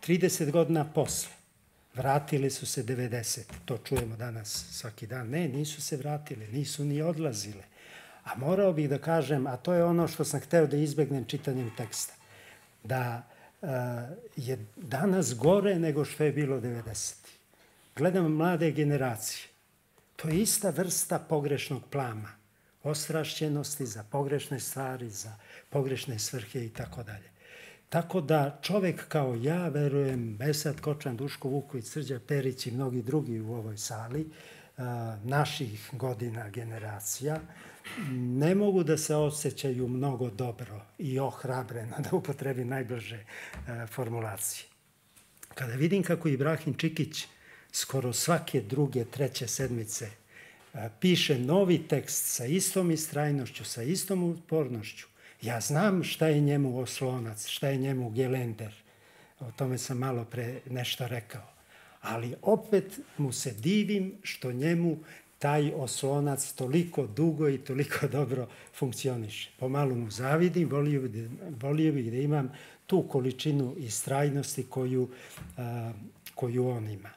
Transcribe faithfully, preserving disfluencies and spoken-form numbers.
trideset godina posle vratili su se devedeset. To čujemo danas svaki dan. Ne, nisu se vratile, nisu ni odlazile. A morao bih da kažem, a to je ono što sam hteo da izbegnem čitanjem teksta, da uh, je danas gore nego što je bilo devedesetih. Gledam mlade generacije. To je ista vrsta pogrešnog plama. Ostrašćenosti za pogrešne stvari, za pogrešne svrhe i tako dalje. Tako da čovek kao ja, verujem, Esad Kočan, Duško Vuković, Srđan Perić i mnogi drugi u ovoj sali, naših godina, generacija, ne mogu da se osjećaju mnogo dobro i ohrabreno, da upotrebim najbliže formulacije. Kada vidim kako Ibrahim Čikić skoro svake druge, treće sedmice piše novi tekst sa istom istrajnošću, sa istom upornošću, ja znam šta je njemu oslonac, šta je njemu gelender. O tome sam malo pre nešto rekao. Ali opet mu se divim što njemu taj oslonac toliko dugo i toliko dobro funkcioniše. Pomalo mu zavidim, volio bih, volio bih da imam tu količinu istrajnosti koju, koju on ima.